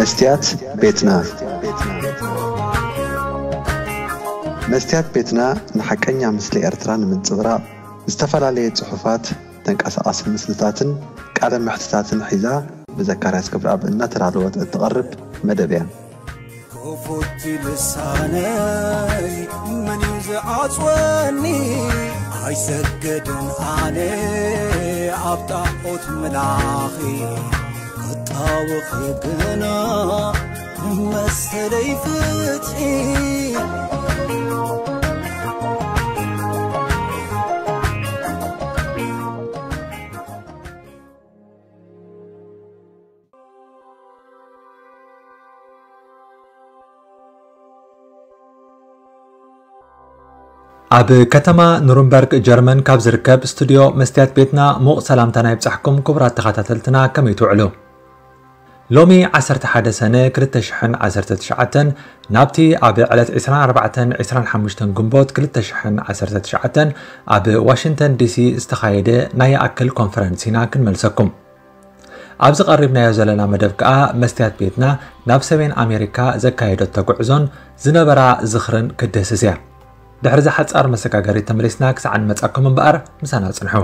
መስትያት ቤትና። መስትያት ቤትና ንሓቀኛ ምስሊ ኤርትራ ንምንጽብራቕ ዝተፈላለየ ጽሑፋት፣ ተንቀሳቓሲ ምስልታትን ቃለ መሕትታትን ሒዛ ብዘካርያስ ክብረኣብ እናተዳለወት እትቐርብ መደብ እያ። ክፉት ልሳነይ መን እዩ ዝዓጽወኒ? ኣይሰግድን ኣነ ኣብ ጣዖት ምላኺ፣ ክጣወኺ ግና መሰለይ ፍትሒ። ኣብ ከተማ ኑርንበርግ ጀርመን ካብ ዝርከብ ስቱድዮ መስትያት ቤትና ሙቕ ሰላምታና ይብጻሕኩም ክቡራት ተኸታተልትና፣ ከመይ ትውዕሉ? ሎሚ ዓሰርተ ሓደ ሰነ ክልተ ሽሕን ዓሰርተ ትሽዓተን ናብቲ ኣብ ዕለት ዕስራን ኣርባዕተን ዕስራን ሓሙሽተን ግንቦት ክልተ ሽሕን ዓሰርተ ትሽዓተን ኣብ ዋሽንግተን ዲሲ ዝተኻየደ ናይ ይኣክል ኮንፈረንስ ኢና ክንመልሰኩም። ኣብዚ ቀሪብናዮ ዘለና መደብ ከኣ መስትያት ቤትና ናብ ሰሜን ኣሜሪካ ዘካየደቶ ጉዕዞን ዝነበራ ዝኽርን ክድህስስ እያ። ድሕሪ እዛ ሓጻር መሰጋገሪት ተመሊስና ክሳዕ ንመጻኩም እምበኣር ምሳና ጽንሑ።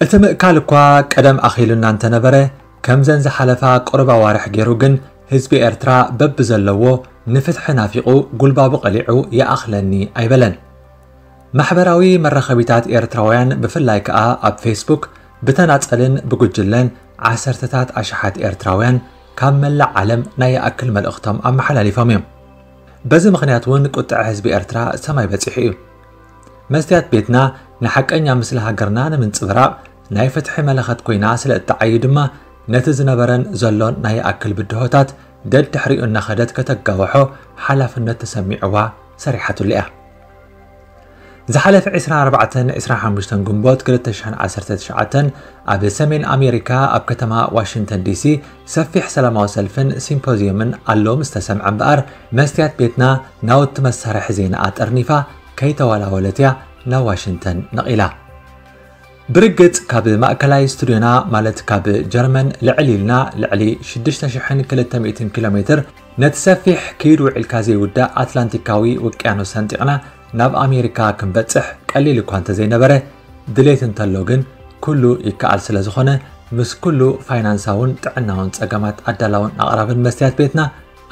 እቲ ምእካል እኳ ቀደም ኣኺሉና እንተነበረ፣ ከምዘን ዝሓለፋ ቁሩብ ኣዋርሕ ገይሩ ግን ህዝቢ ኤርትራ በብዘለዎ ንፍትሒ ናፊቑ ጉልባቡ ቀሊዑ ይኣኽለኒ ኣይበለን። ማሕበራዊ መራኸቢታት ኤርትራውያን ብፍላይ ከኣ ኣብ ፌስቡክ ብተናጸልን ብጉጅለን ዓሰርተታት ኣሽሓት ኤርትራውያን ካብ መላእ ዓለም ናይ ይኣክል መልእኽቶም ኣመሓላሊፎም እዮም። በዚ ምኽንያት እውን ቁጥዐ ህዝቢ ኤርትራ ሰማይ በጺሑ እዩ። መስትያት ቤትና ንሓቀኛ ምስሊ ሃገርና ንምንጽብራቕ ናይ ፍትሒ መለኸት ኮይና ስለ እትዓዩ ድማ ነቲ ዝነበረን ዘሎን ናይ ይኣክል ብድሆታት ደድሕሪኡ እናኸደት ከተጋውሖ ሓላፍነት ተሰሚዕዋ ሰሪሓትሉ እያ። ዝሓለፈ ዕስራን ኣርባዕተን ዕስራን ሓሙሽተን ግንቦት ክልተ ሽሕን ዓሰርተ ትሽዓተን ኣብ ሰሜን ኣሜሪካ ኣብ ከተማ ዋሽንግተን ዲሲ ሰፊሕ ሰላማዊ ሰልፍን ሲምፖዝየምን ኣሎ ምስ ተሰምዐ እምበኣር፣ መስትያት ቤትና ናውቲ መሳርሒ ዜናኣ ጠርኒፋ ከይተወላወለት እያ ናብ ዋሽንግተን ነቒላ። ብርግጽ ካብ ማእከላይ ስቱድዮና፣ ማለት ካብ ጀርመን ልዕል ኢልና ልዕሊ ሽዱሽተ ሽሕን ክልተ ሚእትን ኪሎ ሜትር፣ ነቲ ሰፊሕ ክይድ ውዒልካ ዘይውዳእ ኣትላንቲካዊ ውቅያኖስ ሰንጢቕና ናብ ኣሜሪካ ክንበጽሕ ቀሊል እኳ እንተዘይነበረ፣ ድሌት እንተሎ ግን ኩሉ ይከኣል ስለ ዝኾነ፣ ምስ ኩሉ ፋይናንሳውን ጥዕናውን ጸገማት ኣዳላውን ኣቕራብን መስትያት ቤትና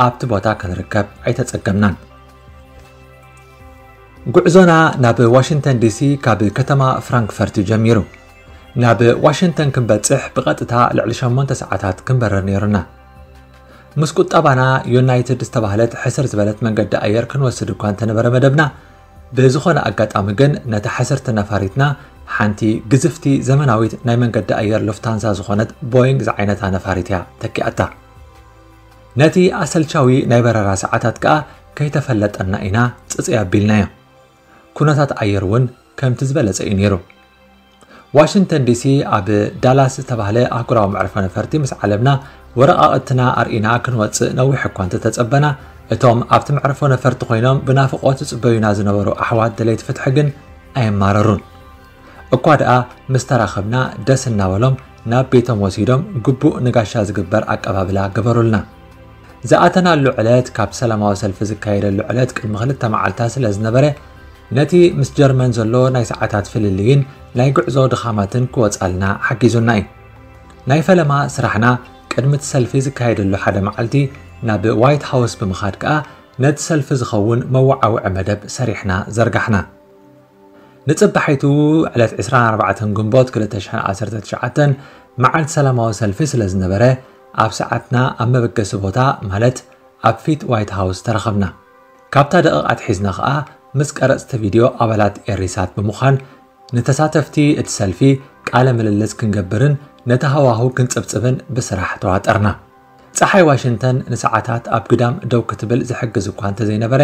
ኣብቲ ቦታ ክንርከብ ኣይተጸገምናን። ጉዕዞና ናብ ዋሽንግተን ዲሲ ካብ ከተማ ፍራንክፈርት እዩ ጀሚሩ። ናብ ዋሽንግተን ክንበጽሕ ብቐጥታ ልዕሊ ሸሞንተ ሰዓታት ክንበርር ነይሩና። ምስ ቁጠባና ዩናይትድ ዝተባህለት ሕስር ዝበለት መንገዲ ኣየር ክንወስድ እኳ እንተነበረ መደብና፣ ብዝኾነ ኣጋጣሚ ግን ነታ ሕስርቲ ነፋሪትና ሓንቲ ግዝፍቲ ዘመናዊት ናይ መንገዲ ኣየር ሉፍታንዛ ዝኾነት ቦይንግ ዝዓይነታ ነፋሪት እያ ተኪኣታ። ነቲ ኣሰልቻዊ ናይ በረራ ሰዓታት ከኣ ከይተፈለጠና ኢና ጽጽይ ኣቢልናዮ። ኩነታት ኣየር እውን ከምቲ ዝበለጸ እዩ ነይሩ። ዋሽንግተን ዲሲ ኣብ ዳላስ ዝተባህለ ኣህጉራዊ መዕርፎ ነፈርቲ ምስ ዓለምና ወረቓቕትና ኣርኢና ክንወጽእ ነዊሕ እኳ እንተተጸበና፣ እቶም ኣብቲ መዕርፎ ነፈርቲ ኮይኖም ብናፍቖት ዝጽበዩና ዝነበሩ ኣሕዋት ደለይቲ ፍትሒ ግን ኣየማረሩን። እኳ ደኣ ምስ ተራኸብና ደስ እናበሎም ናብ ቤቶም ወሲዶም ግቡእ ንጋሻ ዝግበር ኣቀባብላ ገበሩልና። ዝኣተናሉ ዕለት ካብቲ ሰላማዊ ሰልፊ ዝካየደሉ ዕለት ቅድሚ ክልተ መዓልታት ስለ ዝነበረ፣ ነቲ ምስ ጀርመን ዘሎ ናይ ሰዓታት ፍልልይን ናይ ጉዕዞ ድኻማትን ክወጻልና ሓጊዙና እዩ። ናይ ፈለማ ስራሕና ቅድሚ እቲ ሰልፊ ዝካየደሉ ሓደ መዓልቲ ናብ ዋይት ሃውስ ብምኻድ ከኣ ነቲ ሰልፊ ዝኸውን መወዓውዒ መደብ ሰሪሕና ዘርጋሕና። ንጽባሒቱ ዕለት ዕስራን ኣርባዕተን ግንቦት ክልተ ሽሕን ዓሰርተ ትሽዓተን መዓልቲ ሰላማዊ ሰልፊ ስለ ዝነበረ፣ ኣብ ሰዓትና ኣብ መበገሲ ቦታ፣ ማለት ኣብ ፊት ዋይት ሃውስ ተረኸብና። ካብታ ደቂቕ ኣትሒዝና ኸኣ ምስ ቀረጽቲ ቪድዮ ኣባላት ኤሪሳት ብምዃን ንተሳተፍቲ እቲ ሰልፊ ቃለ ምልልስ ክንገብርን ነቲ ሃዋህው ክንጽብጽብን ብስራሕ ተዋጠርና። ጸሓይ ዋሽንግተን ንሰዓታት ኣብ ግዳም ደው ክትብል ዝሕግዝ እኳ እንተዘይነበረ፣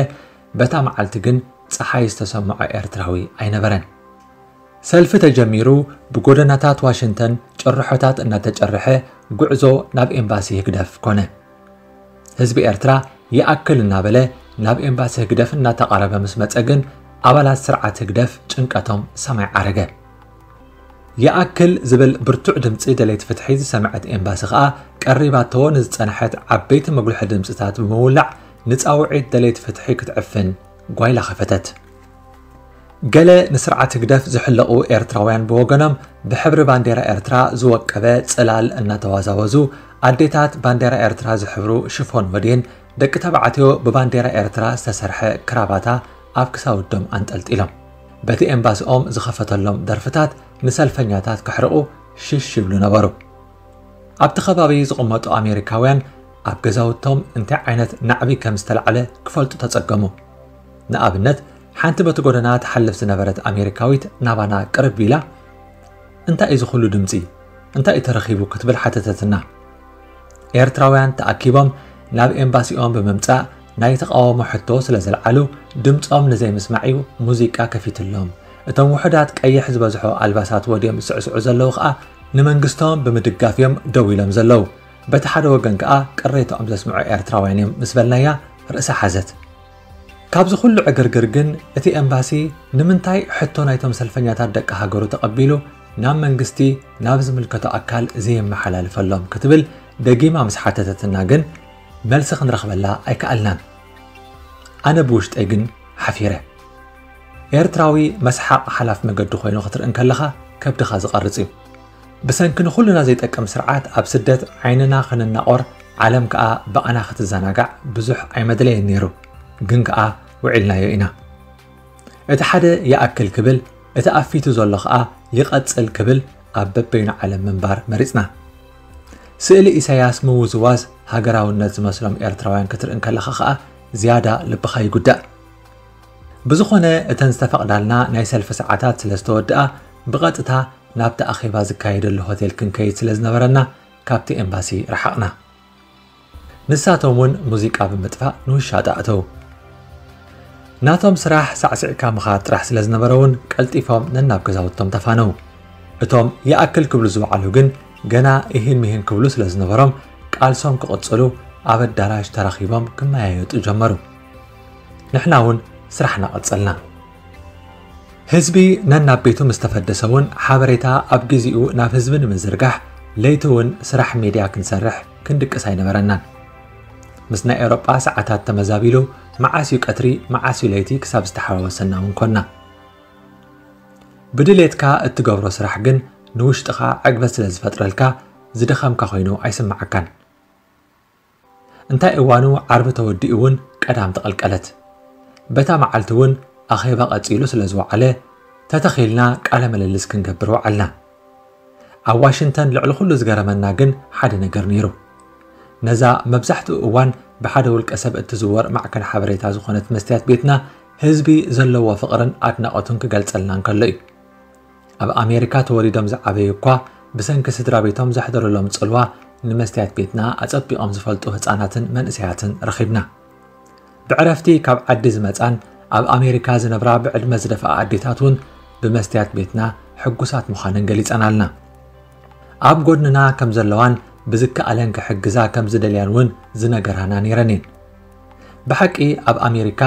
በታ መዓልቲ ግን ጸሓይ ዝተሰምዖ ኤርትራዊ ኣይነበረን። ሰልፊ ተጀሚሩ ብጎደናታት ዋሽንግተን ጭርሖታት እናተጨርሐ ጉዕዞ ናብ ኤምባሲ ህግደፍ ኮነ። ህዝቢ ኤርትራ ይኣክል እናበለ ናብ ኤምባሲ ህግደፍ እናተቓረበ ምስ መጸ ግን፣ ኣባላት ስርዓት ህግደፍ ጭንቀቶም ሰማይ ዓረገ። ይኣክል ዝብል ብርቱዕ ድምጺ ደለይቲ ፍትሒ ዝሰምዐት ኤምባሲ ከኣ፣ ቀሪባቶ ንዝጸንሐት ዓበይቲ መጉልሒ ድምጽታት ብምውላዕ፣ ንጻውዒት ደለይቲ ፍትሒ ክትዕፍን ጓይላ ከፈተት። ገለ ንስርዓት ህግደፍ ዝሕለቑ ኤርትራውያን ብወገኖም፣ ብሕብሪ ባንዴራ ኤርትራ ዝወቀበ ጽላል እናተዋዛወዙ፣ ኣዴታት ባንዴራ ኤርትራ ዝሕብሩ ሽፎን ወዴን፣ ደቂ ተባዕትዮ ብባንዴራ ኤርትራ ዝተሰርሐ ክራባታ ኣብ ክሳውዶም ኣንጠልጢሎም፣ በቲ ኤምባሲኦም ዝኸፈተሎም ደርፍታት ንሰልፈኛታት ከሕርቑ ሽሽ ይብሉ ነበሩ። ኣብቲ ከባቢ ዝቕመጡ ኣሜሪካውያን፣ ኣብ ገዛውቶም እንታይ ዓይነት ናዕቢ ከም ዝተላዕለ ክፈልጡ ተጸገሙ። ንኣብነት፣ ሓንቲ በቲ ጎደና ትሓልፍ ዝነበረት ኣሜሪካዊት ናባና ቅርብ ኢላ፣ "እንታይ እዩ እዚ ኩሉ ድምጺ? እንታይ እዩ ተረኺቡ?" ክትብል ሓተተትና። ኤርትራውያን ተኣኪቦም ናብ ኤምባሲኦም ብምምጻእ፣ ናይ ተቓውሞ ሕቶ ስለ ዘልዓሉ፣ ድምጾም ንዘይምስማዕ እዩ ሙዚቃ ከፊትሎም። እቶም ውሑዳት ቀይሕ ዝበዝሖ ኣልባሳት ወድዮም ዝስዕስዑ ዘለዉ ከኣ፣ ንመንግስቶም ብምድጋፍ እዮም ደው ኢሎም ዘለዉ። በቲ ሓደ ወገን ከኣ ቅሬታኦም ዘስምዑ ኤርትራውያን እዮም ምስ በልናያ፣ ርእሳ ሓዘት። ካብዚ ኩሉ ዕግርግር ግን፣ እቲ ኤምባሲ ንምንታይ ሕቶ ናይቶም ሰልፈኛታት ደቂ ሃገሩ ተቐቢሉ ናብ መንግስቲ፣ ናብ ዝምልከቶ ኣካል ዘየመሓላልፈሎም ክትብል ደጊማ ምስ ሓተተትና ግን፣ መልሲ ክንረኽበላ ኣይከኣልናን። ኣነ ብውሽጠይ ግን ሓፊረ። ኤርትራዊ መስሓቕ ሓላፍ መገዲ ኮይኑ ክትርኢ እንከለኻ ከብድኻ ዝቐርጽ እዩ። ብሰንኪ ንኹልና ዘይጠቅም ስርዓት ኣብ ስደት ዓይንና ክንናቖር፣ ዓለም ከኣ ብኣና ክትዘናጋዕ ብዙሕ ኣይመድለየን ነይሩ። ግን ከኣ ውዒልናዮ ኢና። እቲ ሓደ ይኣክል ክብል፣ እቲ ኣፊቱ ዘሎ ከኣ ይቐጽል ክብል ኣብ በበይኑ ዓለም ምንባር መሪጽና። ስእሊ ኢሳያስ ምውዝዋዝ ሃገራውነት ዝመስሎም ኤርትራውያን ክትርኢ እንከለኻ ከኣ ዝያዳ ልብኻ ይጉዳእ። ብዝኾነ፣ እተን ዝተፈቕዳልና ናይ ሰልፊ ሰዓታት ስለ ዝተወድኣ፣ ብቐጥታ ናብቲ ኣኼባ ዝካየደሉ ሆቴል ክንከይድ ስለ ዝነበረና፣ ካብቲ ኤምባሲ ረሓቕና። ንሳቶም እውን ሙዚቃ ብምጥፋእ ንውሻጠ ኣተዉ። ናቶም ስራሕ ሳዕሲዕካ ምኻድ ጥራሕ ስለ ዝነበረ እውን፣ ቀልጢፎም ነናብ ገዛውቶም ተፋነዉ። እቶም ይኣክል ክብሉ ዝወዓሉ ግን፣ ገና ኢሂን ሚሂን ክብሉ ስለ ዝነበሮም፣ ቃልሶም ክቕጽሉ ኣብ ኣዳራሽ ተራኺቦም ክመያየጡ ጀመሩ። ንሕና እውን ስራሕና ቀጸልና። ህዝቢ ነናብ ቤቱ ምስ ተፈደሰ እውን፣ ሓበሬታ ኣብ ግዜኡ ናብ ህዝቢ ንምዝርጋሕ፣ ለይቲ እውን ስራሕ ሜድያ ክንሰርሕ ክንድቅስ ኣይነበረናን። ምስ ናይ ኤውሮጳ ሰዓታት ተመዛቢሉ፣ መዓስ እዩ ቀትሪ፣ መዓስ እዩ ለይቲ ክሳብ ዝተሓዋወሰና እውን ኮና። ብድሌትካ እትገብሮ ስራሕ ግን ንውሽጥኻ ዕግበት ስለ ዝፈጥረልካ፣ ዝደኸምካ ኮይኑ ኣይስምዓካን። እንታይ እዋኑ ዓርቢ ተወዲኡ እውን ቀዳም ተቐልቀለት። በታ መዓልቲ እውን ኣኼባ ቀጺሉ ስለ ዝወዓለ፣ ተተኺልና ቃለ ምልልስ ክንገብር ወዓልና። ኣብ ዋሽንግተን ልዕሊ ኩሉ ዝገረመና ግን ሓደ ነገር ነይሩ። ነዛ መብዛሕትኡ እዋን ብሓደ ውልቀ ሰብ እትዝወር ማዕከን ሓበሬታ ዝኾነት መስትያት ቤትና፣ ህዝቢ ዘለዎ ፍቕርን ኣድናቖቱን ክገልጸልና እንከሎ እዩ። ኣብ ኣሜሪካ ተወሊዶም ዝዓበዩ እኳ፣ ብሰንኪ ስድራ ቤቶም ዘሕደሩሎም ጽልዋ፣ ንመስትያት ቤትና ኣጸቢቖም ዝፈልጡ ህጻናትን መንእሰያትን ረኺብና። ብዕረፍቲ ካብ ዓዲ ዝመጻን ኣብ ኣሜሪካ ዝነብራ ብዕድመ ዝደፍኣ ኣዴታት እውን ብመስትያት ቤትና ሕጉሳት ምዃነን ገሊጸናልና። ኣብ ጎድንና ከም ዘለዋን ብዝከኣለን ክሕግዛ ከም ዝደልያን እውን ዝነገራና ነይረን እየን። ብሓቂ ኣብ ኣሜሪካ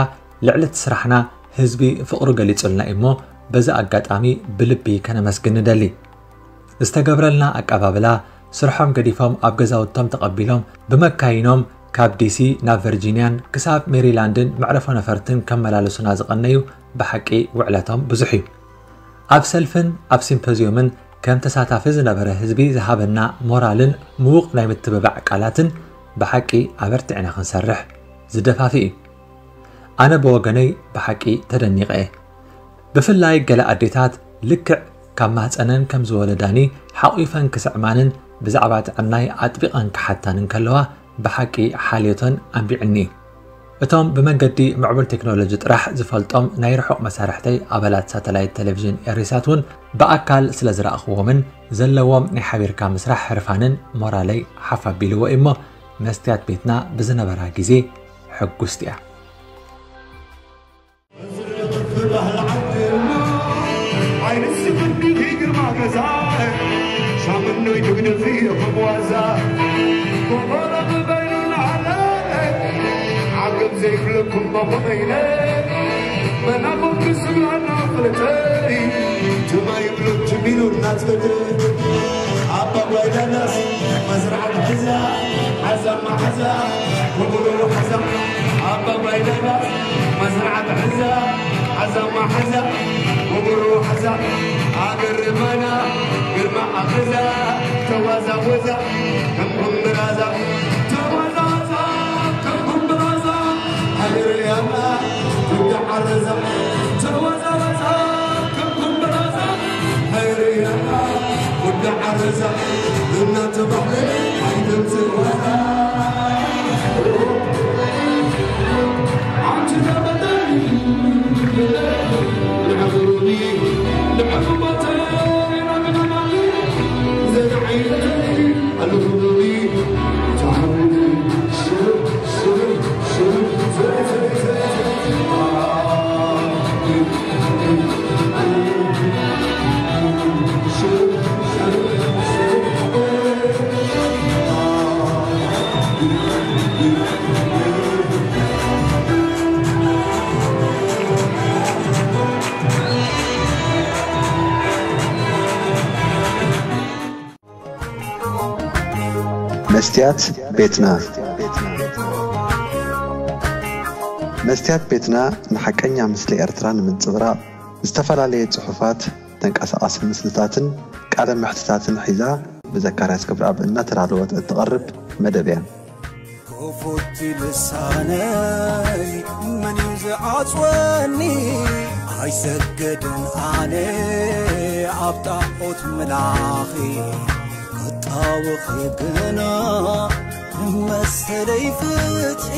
ልዕሊ እቲ ስራሕና ህዝቢ ፍቕሩ ገሊጹልና እዩ እሞ፣ በዚ ኣጋጣሚ ብልቢ ከነመስግን ንደሊ። ዝተገብረልና ኣቀባብላ፣ ስርሖም ገዲፎም ኣብ ገዛውቶም ተቐቢሎም፣ ብመካይኖም ካብ ዲሲ ናብ ቨርጂንያን ክሳብ ሜሪላንድን መዕረፎ ነፈርትን ከመላልሱና ዝቐነዩ ብሓቂ ውዕለቶም ብዙሕ እዩ። ኣብ ሰልፍን ኣብ ሲምፖዝዮምን ከም ተሳታፊ ዝነበረ ህዝቢ ዝሃበና ሞራልን ምዉቕ ናይ ምትብባዕ ቃላትን ብሓቂ ኣበርቲዕና ክንሰርሕ ዝደፋፍእ እዩ። ኣነ ብወገነይ ብሓቂ ተደኒቐ እየ። ብፍላይ ገለ ኣዴታት ልክዕ ካብ ማህፀነን ከም ዝወለዳኒ ሓቒፈን ክስዕማንን ብዛዕባ ጥዕናይ ኣጥቢቐን ክሓታን እንከለዋ ብሓቂ ሓልዮተን ኣንቢዕኒ እዩ። እቶም ብመንገዲ ምዕቡል ቴክኖሎጂ ጥራሕ ዝፈልጦም ናይ ርሑቕ መሳርሕተይ ኣባላት ሳተላይት ቴሌቪዥን ኤሪሳት እውን ብኣካል ስለ ዝረኣኽዎምን ዘለዎም ናይ ሓቢርካ ምስራሕ ህርፋንን ሞራለይ ሓፍ ኣቢልዎ እዩ እሞ መስትያት ቤትና ብዝነበራ ግዜ ሕጉስቲ እያ። ዘይብለኩም ባኾመይነ መናቦም ብስብራና ፍለጠይ ትማይ ብሎ ጅሚሉ እናትፈደ ኣባ ጓይዳናስ መዝርዓት ሕዛ ሓዛ ማሓዛ ወጉሮ ሓዛ ኣባ ጓይዳናስ መዝርዓት ሕዛ ሓዛ ማሓዛ ወጉሮ ሓዛ ኣገርማና ግርማ ኣፈዛ ተዋዛወዛ ከም ጉምብራዛ ተዋዛወዛ ከም ጉምብራዛ ሃገርያና ጉዳ ዓረዛ ተዋዛወዛ ከም ጉምብራዛ ሃገርያና ጉዳ ዓረዛ እናተባህለ ኣይተምፅእ ዋዛ። መስትያት ቤትና። መስትያት ቤትና ንሓቀኛ ምስሊ ኤርትራ ንምንጽብራቕ ዝተፈላለየ ጽሑፋት፣ ተንቀሳቓሲ ምስልታትን ቃለ መሕትታትን ሒዛ ብዘካርያስ ክብረኣብ እናተዳለወት እትቐርብ መደብ እያ። ክፉት ልሳነይ መን እዩ ዝዓጽወኒ? ኣይሰግድን ኣነ ኣብ ጣዖት ምላኺ ክጣወኺ ግና መሰለይ ፍትሒ